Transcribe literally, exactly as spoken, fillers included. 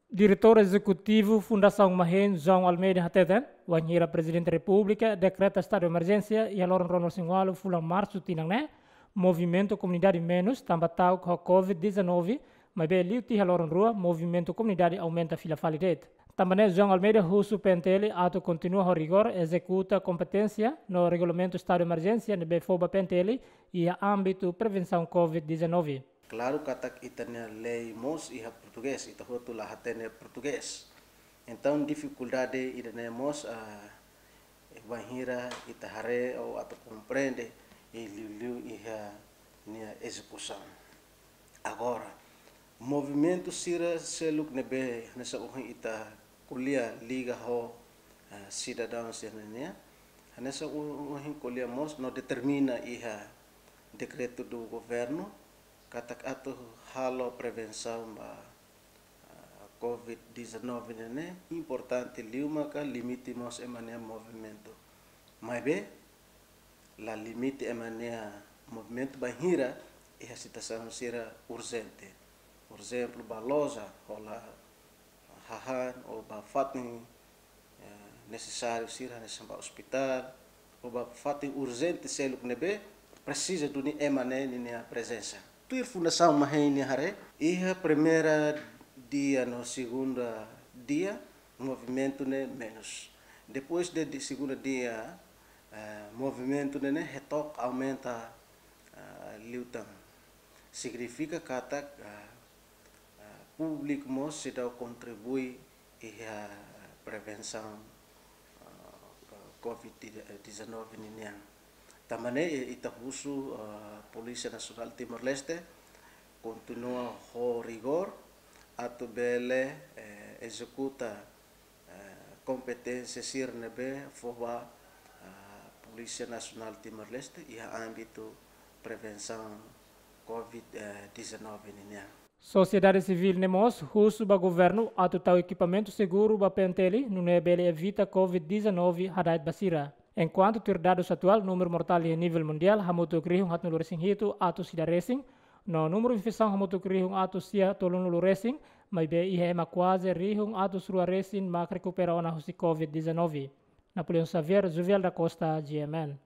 Diretór Ezekutivu Fundasaun Mahein, João Almeida, hateten, wainhira Prezidente Repúblika dekreta estadu de emerjénsia iha loron ruanulu-resin-ualu fulan Marsu tinan ne'e, movimentu komunidade menus tanba ta'uk ho covid dezanove, maibé liu tiha loron rua movimentu komunidade aumenta fila fali de'it. Tanba ne'e João Almeida husu P N T L atu kontinua ho rigór ezekuta kompeténsia no regulamentu estadu de emerjénsia ne'ebé fó ba P N T L iha ámbitu prevensaun covid dezanove. Klaru katak ita-nia lei mós iha portugés, ita hotu la hatene portugés. Entaun, difikuldade ida-ne'e mós, ah, bainhira ita haree ou atu komprende, i liuliu iha nia ezekusaun. Agora, movimentu sira seluk ne'ebé hanesan ohin ita ko'alia liga ho, ah, sidadaun sira nian, hanesan ohin ko'alia mós no determina iha dekretu do governu, katak atu halo prevensaun ba, ah, covid dezanove ne'e ne'e, importante liu maka limite mós ema nia movimentu. Maibé, la limite ema nia movimentu bainhira iha situasaun sira urjente. Por ezemplu, ba loja, hola hahán, ou ba fatin, eh, nesesáriu sira hanesan ba ospitál, ou ba fatin urjente seluk ne'ebé presiza duni ema ne'e ninia prezensa. Tuir Fundasaun Mahein nia haree, iha primeira dia no segunda dia, movimentu ne'e menus. Depois de, de segunda dia, eh, movimentu ne'e ne'e hetok aumenta, eh, liután. Signifika katak, eh, eh, públiku mós seidauk kontribui iha prevensaun, eh, covid dezanove ninian. Tanba ne'e, eh, ita husu, eh, Polísia Nasionál Timor-Leste kontinua ho rigór atu bele, eh, ezekuta, eh, kompeténsia sira ne'ebé fó ba, eh, Polísia Nasionál Timor-Leste iha ámbitu prevensaun covid dezanove ninian. Sosiedade sivíl ne'e mós husu ba governu atu tau ekipamentu seguru ba P N T L, nune'e bele evita covid dezanove hada'et ba sira. Enkuantu tuir dadus atuál, númeru mortál iha nivel mundiál hamutuk rihun haatnulu-resin-hitu atus ida resin, no númeru infesaun hamutuk rihun atus sia tolunulu resin, maibé iha ema kuaze rihun atus rua resin mak rekupera ona husi covid dezanove. Napoleão Xavier, Juvial da Costa, G M N.